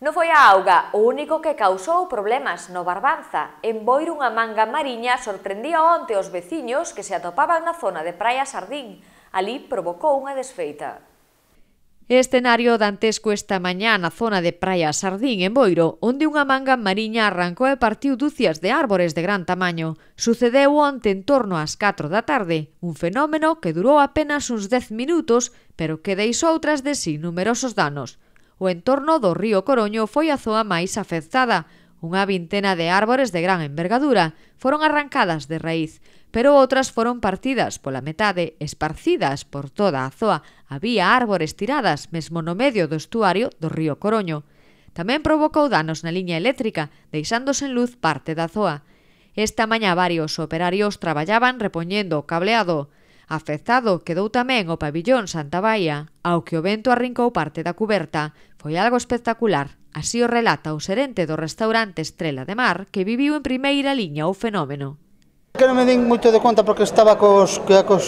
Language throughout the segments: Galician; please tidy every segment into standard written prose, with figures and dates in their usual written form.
Non foi a auga o único que causou problemas no Barbanza. En Boiro unha manga mariña sorprendía onte os veciños que se atopaban na zona de Praia Sardín. Alí provocou unha desfeita. Escenario dantesco esta mañá na zona de Praia Sardín, en Boiro, onde unha manga mariña arrancou e partiu dúcias de árbores de gran tamaño. Sucedeu onte en torno ás 4 da tarde, un fenómeno que durou apenas uns 10 minutos, pero que deixou tras de si numerosos danos. O entorno do río Coroño foi a zoa máis afectada. Unha vintena de árbores de gran envergadura foron arrancadas de raíz, pero outras foron partidas pola metade, esparcidas por toda a zoa. Había árbores tiradas mesmo no medio do estuario do río Coroño. Tamén provocou danos na liña eléctrica, deixando sen luz parte da zoa. Esta mañá varios operarios traballaban repoñendo o cableado. Afectado quedou tamén o pabillón Santa Baia, ao que o vento arrincou parte da cuberta. Foi algo espectacular, así o relata o xerente do restaurante Estrela de Mar, que viviu en primeira liña o fenómeno. Que non me din moito de conta porque estaba cos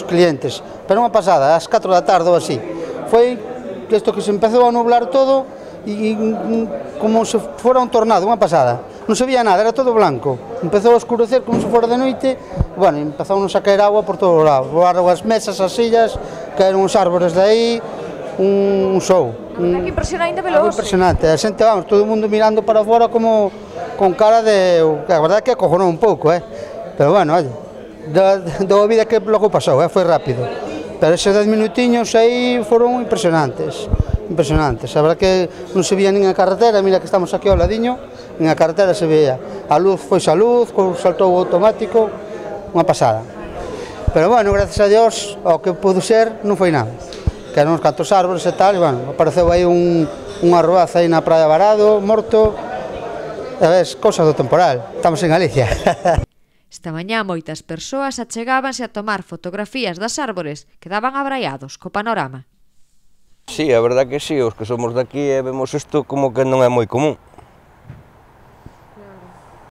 clientes, pero unha pasada, ás 4 da tarde ou así. Foi isto que se empezou a nublar todo e como se fora un tornado, unha pasada. Non se veía nada, era todo blanco. Empezou a escurecer como se fora de noite, e, bueno, empezamos a caer agua por todos lados. Voaron as mesas, as sillas, caeron os árbores de aí, un show. Que impresionante veloz. Impresionante, a xente, vamos, todo o mundo mirando para fora como con cara de... A verdade é que acojonou un pouco, pero bueno, oye, da vida que logo pasou, foi rápido. Pero eses 10 minutiños aí foron impresionantes. Impresionantes, a verdade que non se veía nin a carretera, mira que estamos aquí ao ladiño, nin a carretera se veía. A luz foi a luz, saltou o automático, unha pasada. Pero bueno, gracias a Dios, ao que pudo ser, non foi nada. Que eran uns cantos árbores e tal, e bueno, apareceu aí unha roaza aí na Praia Varado, morto, e ves, cosas do temporal, estamos en Galicia. Esta mañá moitas persoas achegábanse a tomar fotografías das árbores que daban abraiados co panorama. Sí, a verdad que sí, os que somos de aquí e vemos isto como que non é moi común.